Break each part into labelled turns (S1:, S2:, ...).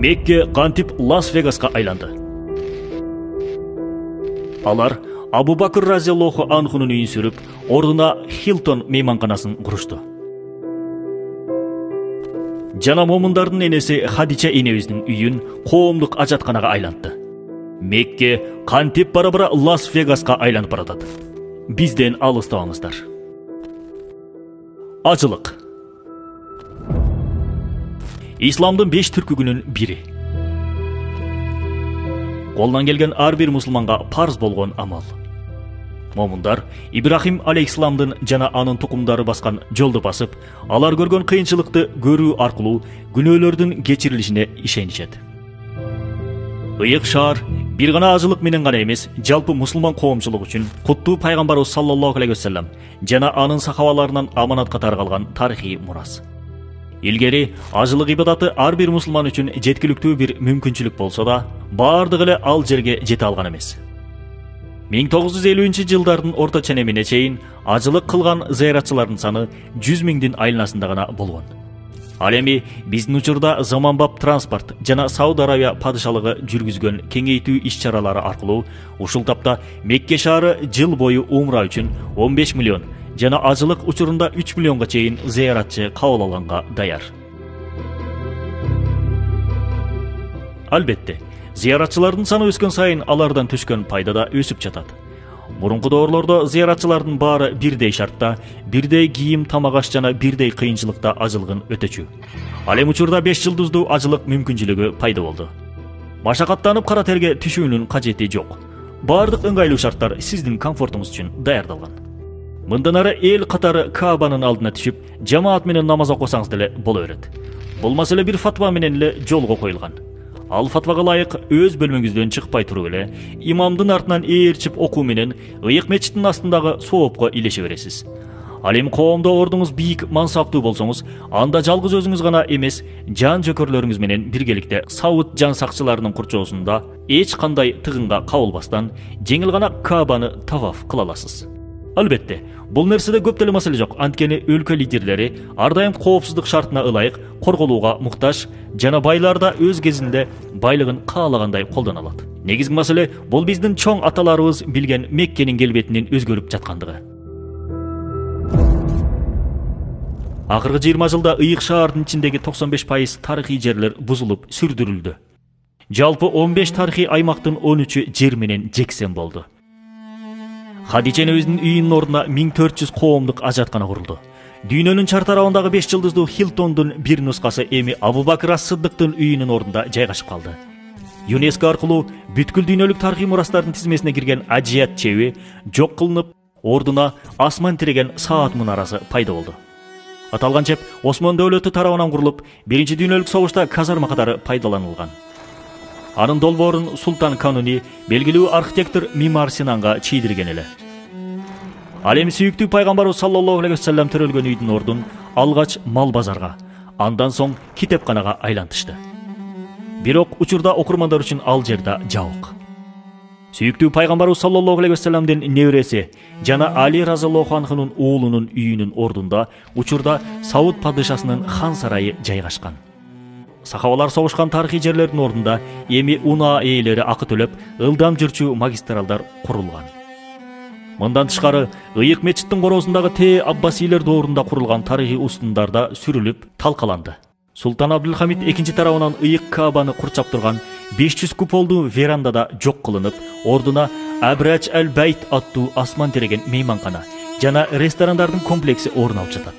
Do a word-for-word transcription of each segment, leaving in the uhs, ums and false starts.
S1: Мекке кантип Лас-Вегаска айланды? Алар Абу Бакр разияллаху анхунун үйүн сүрүп, ордуна Хилтон мейманканасын курушту. Жана момундардын энеси Хадича энебиздин үйүн коомдук ажатканага айлантты. Мекке кантип бара-бара Лас-Вегаска айланып баратат. Бизден алыстабаңыздар. Ажылык. Исламдын беш түркүгүнүн бири. Колдон келген ар бир мусулманга парз болгон амал. Момундар Ибрахим алейхисаламдын жана анын тукумдары баскан жолду басып, алар көргөн кыйынчылыкты көрүү аркылуу күнөөлөрдүн кечирилишине ишенишет. Ыйык шаар бир гана ажылык менен гана эмес, жалпы мусулман коомчулук үчүн куттуу пайгамбарыбыз саллаллаху алейхи вассалам жана анын сахабаларынан аманат катары калган тарыхый мурас. Илгери ажылык ибадаты ар бир мусулман үчүн жеткиликтүү бир мүмкүнчүлүк болсо да, бардыгы эле ал жерге жете алган эмес. миң тогуз жүз элүүнчү жылдардын орто ченемине чейин ажылык кылган зыяратчылардын саны жүз миңдин айланасында гана болгон. Ал эми биздин учурда заманбап транспорт жана Сауд Арабия падышалыгы жүргүзгөн кеңейтүү иш-чаралары аркылуу ушул тапта Мекке шаары жыл бою умра үчүн он беш миллион жана ажылык учурунда үч миллионго чейин зыяратчы кабыл алганга даяр. Албетте, зыяратчылардын саны өскөн сайын алардан түшкөн пайда да өсүп жатат. Мурунку доорлордо зыяратчылардын баары бирдей шартта, бирдей кийим, тамак аш жана бирдей кыйынчылыкта ажылыгын өтөчү. Ал эми учурда беш жылдыздуу ажылык мүмкүнчүлүгү пайда болду. Машакаттанып кара терге түшүүнүн кажети жок. Бардык ыңгайлуу шарттар сиздин комфортуңуз үчүн даярдалган. Мындан ары эл катары Каабанын алдына түшүп, жамаат менен намаз окусаңыз деле боло берет. Бул маселе бир фатва менен эле жолго коюлган. Ал фатвага ылайык өз бөлмөңүздөн чыкпай туруп эле, имамдын артынан ээрчип окуу менен ыйык мечиттин астындагы соопко илеше бересиз. Ал эми коомдо ордуңуз бийик, мансаптуу болсоңуз, анда жалгыз өзүңүз гана эмес, жан жөкөрлөрүңүз менен биргеликте Сауд жан сакчыларынын курчоосунда эч кандай тыгынга кабылбастан жеңил гана Каабаны таваф кыла аласыз. Албетте, бул нерседе көп деле маселе жок. Анткени өлкө лидерлери ар дайым коопсуздук шартына ылайык корголууга муктаж жана байлар да өз кезинде байлыгын каалагандай колдоно алат. Негизги маселе бул биздин чоң аталарыбыз билген Меккенин келбетинин өзгөрүп жаткандыгы. Акыркы жыйырма жылда ыйык шаардын ичиндеги токсон беш пайыз тарыхый жерлер бузулуп, сүрдүрүлдү. Жалпы он беш тарыхый аймактын он үчү жер менен жексен болду. Хадича энебиздин үйүнүн ордуна миң төрт жүз коомдук ажаткана курулду. Дүйнөнүн чар тарабындагы беш жылдыздуу Хилтондун бир нускасы эми Абу Бакр ас-Сыддыктын үйүнүн ордунда жайгашып калды. ЮНЕСКО аркылуу бүткүл дүйнөлүк тарыхый мурастардын тизмесине кирген Аджият чеби жок кылынып, ордуна асман тиреген саат мунарасы пайда болду. Аталган чеп Осман дөөлөтү тарабынан курулуп, биринчи дүйнөлүк согушта казарма катары пайдаланылган. Анын долбоорун Султан Кануни белгилүү архитектор Мимар Синанга чийдирген эле. Ал эми сүйүктүү пайгамбарыбыз саллаллаху алейхи вассалам төрөлгөн үйдүн ордун алгач мал базарга, андан соң китепканага айлантышты. Бирок учурда окурмандар үчүн ал жерде жабык. Сүйүктүү пайгамбарыбыз саллаллаху алейхи вассаламдын небереси жана Али разияллаху анхунун уулунун үйүнүн ордунда учурда Сауд падышасынын хан сарайы жайгашкан. Сахабалар согушкан тарыхый жерлердин ордунда эми унаа ээлери акы төлөп, ылдам жүрчү магистралдар курулган. Мындан тышкары, ыйык мечиттин короосундагы Те Аббасилер доорунда курулган тарыхый устундарда сүрүлүп, талкаланды. Султан Абдулхамид экинчи тарабынан ыйык Каабаны курчап турган беш жүз куполдуу верандада жок кылынып, ордуна Абрач аль-Байт аттуу асман тиреген мейманкана жана ресторандардын комплекси орун алып жатат.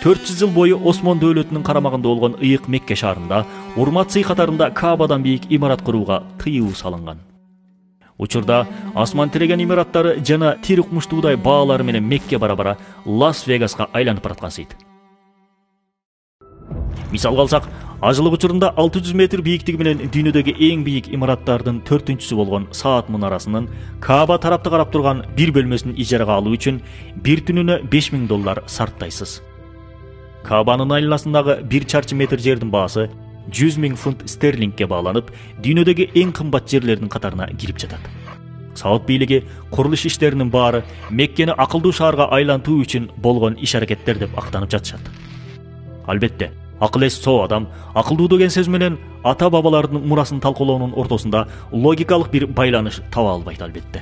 S1: төрт жүз жыл бою Осман дөөлөтүнүн карамагында болгон ыйык Мекке шаарында урмат сый катарында Каабадан бийик имарат курууга тыюу салынган. Учурда асман тиреген имараттары жана тир укмуштуудай баалары менен Мекке бара-бара Лас-Вегаска айланып бараткансыйт. Мисалга алсак, ажылык учурунда алты жүз метр бийиктиги менен дүйнөдөгү эң бийик имараттардын төртүнчүсү болгон Саат мунарасынын Кааба тарапты карап турган бир бөлмөсүн ижарага алуу үчүн бир түнүнө беш миң доллар сарптайсыз. Каабанын айланасындагы бир чарчы метр жердин баасы жүз миң фунт стерлингке бааланып, дүйнөдөгү эң кымбат жерлердин катарына кирип жатат. Сауд бийлиги курулуш иштеринин баары Меккени акылдуу шаарга айлантуу үчүн болгон иш-аракеттер деп актанып жатышат. Албетте, Акыл эс соо адам акылдуу деген сөз менен ата бабалардын мурасын талкуулоонун ортосунда логикалык бир байланыш таба албайт албетте.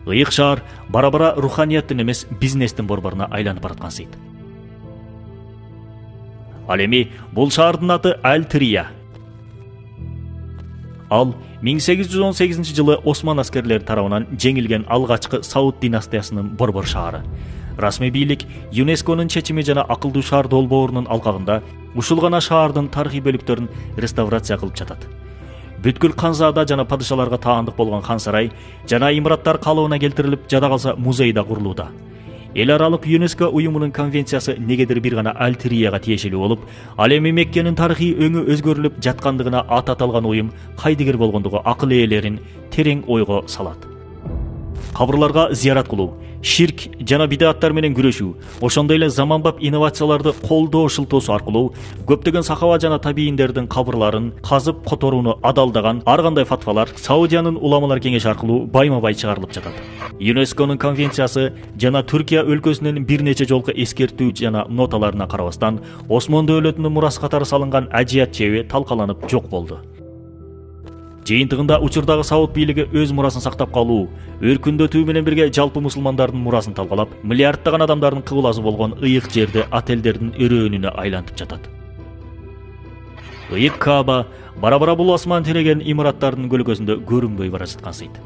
S1: Ыйык шаар бара-бара руханияттын эмес бизнестин борборуна айланып бараткансыйт. Ал эми бул шаардын аты Аль-Трия. Ал миң сегиз жүз он сегизинчи жылы Осман аскерлери тарабынан жеңилген алгачкы Сауд династиясынын борбор шаары. Расмий бийлик ЮНЕСКОнун чечими жана акылдуу шаар долбоорунун алкагында ушул гана шаардын тарыхый бөлүктөрүн реставрация кылып жатат. Бүткүл канзада жана падышаларга таандык болгон хан сарай жана имараттар калыбына келтирилип, жада калса музей да курулууда. Эл аралык ЮНЕСКО уюмунун конвенциясы негедир бир гана Аль-Трияга тиешелүү болуп, ал эми Меккенин тарыхый өңү өзгөрүлүп жаткандыгына ат аталган уюм кайдыгер болгондугу акыл ээлерин терең ойго салат. Кабырларга зыярат кылуу, ширк жана бидаттар менен күрөшүү, ошондой эле заманбап инновацияларды колдоо шылтоосу аркылуу көптөгөн сахаба жана табийиндердин кабырларын казып которууну адалдаган ар кандай фатвалар Саудиянын уламалар кеңеши аркылуу байма-бай чыгарылып жатат. ЮНЕСКОнун конвенциясы жана Түркия өлкөсүнүн бир нече жолку эскертүү жана ноталарына карабастан Осмон дөөлөтүнүн мурасы катары салынган ажият чеби талкаланып жок болду. Жыйынтыгында учурдагы Сауд бийлиги өз мурасын сактап калуу, өркүндөтүү менен бирге жалпы мусулмандардын мурасын талкалап, миллиарддаган адамдардын кыбласы болгон ыйык жерди отелдердин өрөөнүнө айлантып жатат. Ыйык Кааба бара-бара бул асман тиреген имараттардын көлөкөсүндө көрүнбөй бара жаткансыйт.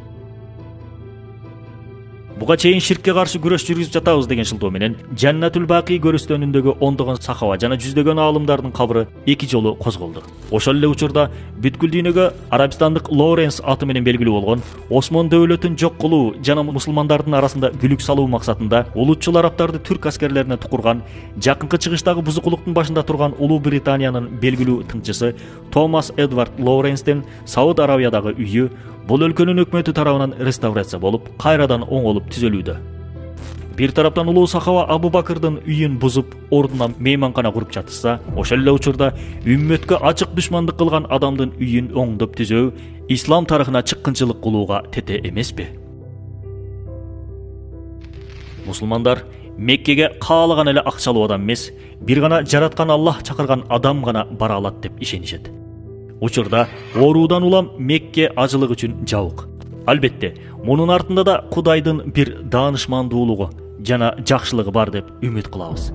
S1: Буга чейин ширкке каршы күрөш жүргүзүп жатабыз деген шылтоо менен Жаннатул Бакый көрүстөнүндөгү ондогон сахаба жана жүздөгөн аалымдардын кабыры эки жолу козголду. Ошол эле учурда бүткүл дүйнөгө арабистандык Лоренс аты менен белгилүү болгон Осмон дөөлөтүн жок кылуу жана мусулмандардын арасында бүлүк салуу максатында улутчул арабтарды түрк аскерлерине тукурган, жакынкы чыгыштагы бузукулуктун башында турган Улуу Британиянын белгилүү тыңчысы Томас Эдвард Лоренстен Сауд Аравиядагы үйү бул өлкөнүн өкмөтү тарабынан реставрация болуп, кайрадан оңолуп түзөлүүдө. Бир тараптан улуу сахаба Абу Бакырдын үйүн бузуп, ордуна мейманкана куруп жатышса, ошол эле учурда үммөткө ачык душмандык кылган адамдын үйүн оңдоп түзөө ислам тарыхына чыккынчылык кылууга тете эмеспи? Мусулмандар Меккеге каалаган эле акчалуу адам эмес, бир гана жараткан Аллах чакырган адам гана бара алат деп ишенишет. Учурда оруудан улам Мекке ажылык үчүн жабык. Албетте, мунун артында да Кудайдын бир даанышмандуулугу жана жакшылыгы бар деп үмүт кылабыз.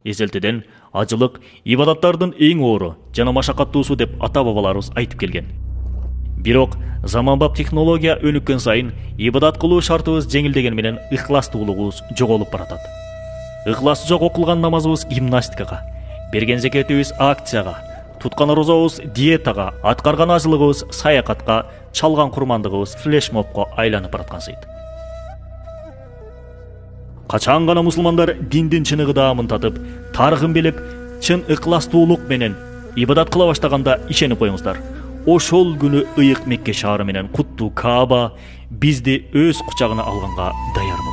S1: Эзелтеден ажылык ибадаттардын эң оору жана машакаттуусу деп ата-бабаларыбыз айтып келген. Бирок заманбап технология өнүккөн сайын ибадат кылуу шартыбыз жеңилдеген менен ыхластуулугубуз жоголуп баратат. Ыхласы жок окулган намазыбыз гимнастикага, берген зекетибиз акцияга, туткан розобуз диетага, аткарган ажылыгыбыз саякатка, чалган курмандыгыбыз флешмобко айланып бараткансыйт. Качан гана мусулмандар диндин чыныгыдаамын татып, тарыхын билип, чын ыхластуулук менен ибадат кыла баштаганда ишенип коюңуздар. Ошол күнү ыйык Мекке шаары менен куттуу Кааба бизди өз кучагына алганга даяр.